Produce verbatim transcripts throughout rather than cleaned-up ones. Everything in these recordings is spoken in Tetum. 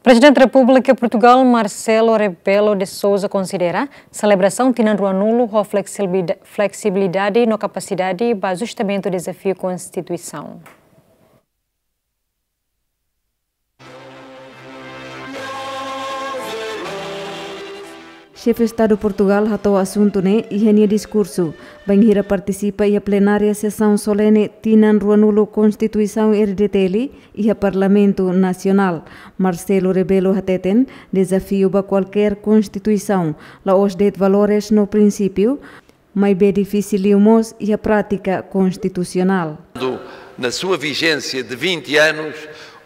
Prezidente Repúblika Portugal, Marcelo Rebelo de Sousa, konsidera selebrasaun tinan ruanulu ho fleksibilida-, fleksibilidade no kapasidade ba ajustamentu dezafiu konstituisaun. Xefe Estadu Portugal hato'o asuntu ne'e iha nia diskursu bainhira partisipa iha plenária sesaun solene tinan ruanulu Konstituisaun R D T L iha Parlamentu Nasionál. Marcelo Rebelo hateten, dezafiu ba kualkér konstituisaun la'ós de'it valores no prinsípiu, maibé difisil liu mós iha prátika konstitusionál. Na sua vigência de vinte anos,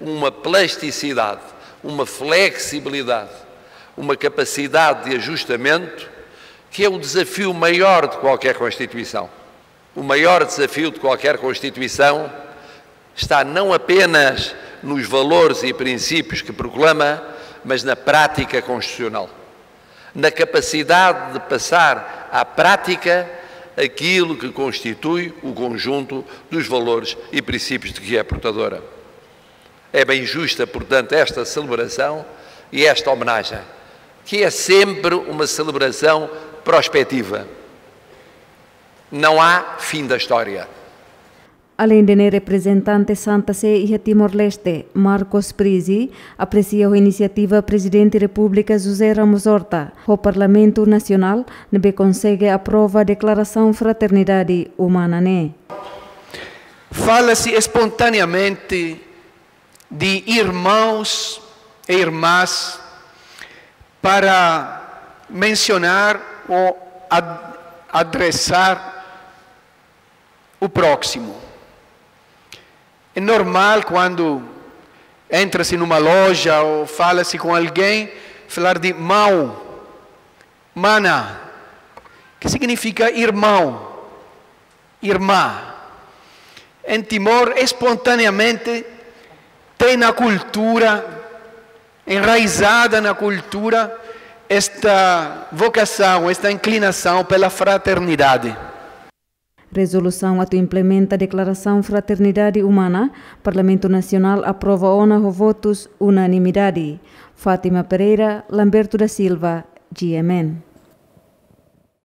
uma plasticidade, uma flexibilidade, uma capacidade de ajustamento, que é o desafio maior de qualquer Constituição. O maior desafio de qualquer Constituição está não apenas nos valores e princípios que proclama, mas na prática constitucional. Na capacidade de passar à prática aquilo que constitui o conjunto dos valores e princípios de que é portadora. É bem justa, portanto, esta celebração e esta homenagem, que é sempre uma celebração prospectiva. Não há fim da história. Aleinde ne'e, reprezentante Santa Sé iha Timor-Leste, Marcos Prizzi, apresia ho inisiativa Prezidente Repúblika José Ramos Horta ho Parlamentu Nasionál ne'ebé konsege aprova Deklarasaun Fraternidade Umana ne'e. Fala-se espontaneamente de irmãos e irmãs para mencionar ou ad-, adressar o próximo. É normal quando entra-se numa loja ou fala-se com alguém, falar de mau, mana, que significa irmão, irmã. Em Timor, espontaneamente, tem na cultura, enraizada na cultura, esta vocação, esta inclinação pela fraternidade. Rezolusaun atu implementa Deklarasaun Fraternidade Umana, Parlamentu Nasionál aprova ona ho votus unanimidade. Fátima Pereira, Lamberto da Silva, G M N.